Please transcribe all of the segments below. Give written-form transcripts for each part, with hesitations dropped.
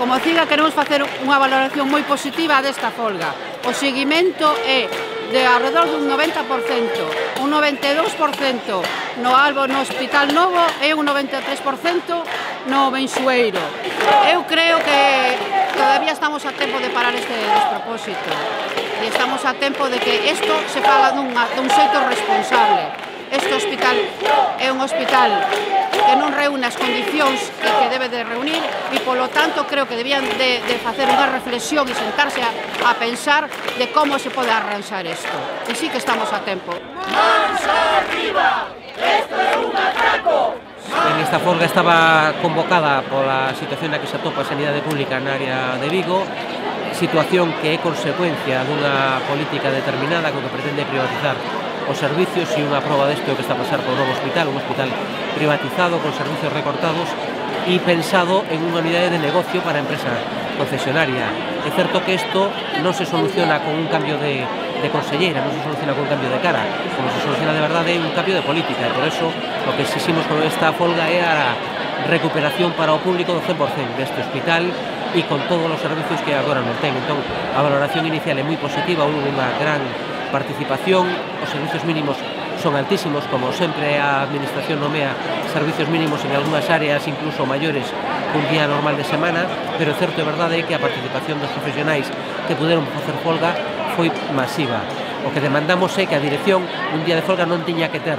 Como CIGA queremos facer unha valoración moi positiva desta folga. O seguimento é de alrededor dun 90%, un 92% no Hospital Novo e un 93% no Mensueiro. Eu creo que todavía estamos a tempo de parar este despropósito e estamos a tempo de que isto se faga dun xeito responsable. Este hospital é un hospital que non reúne as condicións que debe de reunir e, polo tanto, creo que debían de facer unha reflexión e sentarse a pensar de como se pode arranxar isto. E sí que estamos a tempo. ¡Mans arriba! ¡Esto é un atraco! En esta folga estaba convocada pola situación na que se atopa a sanidade pública na área de Vigo, situación que é consecuencia dunha política determinada co que pretende privatizar os servicios e unha proba desto que está a pasar por un hospital, un hospital privatizado con servicios recortados e pensado en unha unidade de negocio para a empresa concesionaria. É certo que isto non se soluciona con un cambio de conselleira, non se soluciona con un cambio de cara, como se soluciona de verdade é un cambio de política, e por eso o que exiximos con esta folga é a recuperación para o público do 100% deste hospital e con todos os servicios que agora non ten. Entón, a valoración inicial é moi positiva, houve unha gran participación, os servicios mínimos son altísimos, como sempre a Administración nomea servicios mínimos en algunhas áreas incluso maiores que un día normal de semana, pero certo e verdade é que a participación dos profesionais que puderon facer folga foi masiva. O que demandamos é que a dirección un día de folga non tiña que ter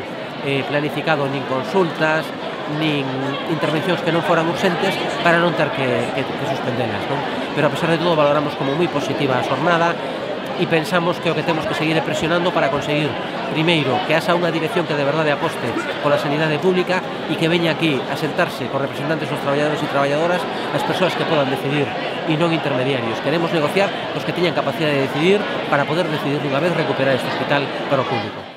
planificado nin consultas, nin intervencións que non foran urxentes para non ter que suspendelas, non? Pero a pesar de todo valoramos como moi positiva a xornada e pensamos que o que temos que seguir é presionando para conseguir, primeiro, que haxa unha dirección que de verdade aposte pola sanidade pública e que veña aquí a sentarse con representantes dos traballadores e traballadoras, as persoas que podan decidir e non intermediarios. Queremos negociar os que teñan capacidade de decidir para poder decidir dunha vez recuperar este hospital para o público.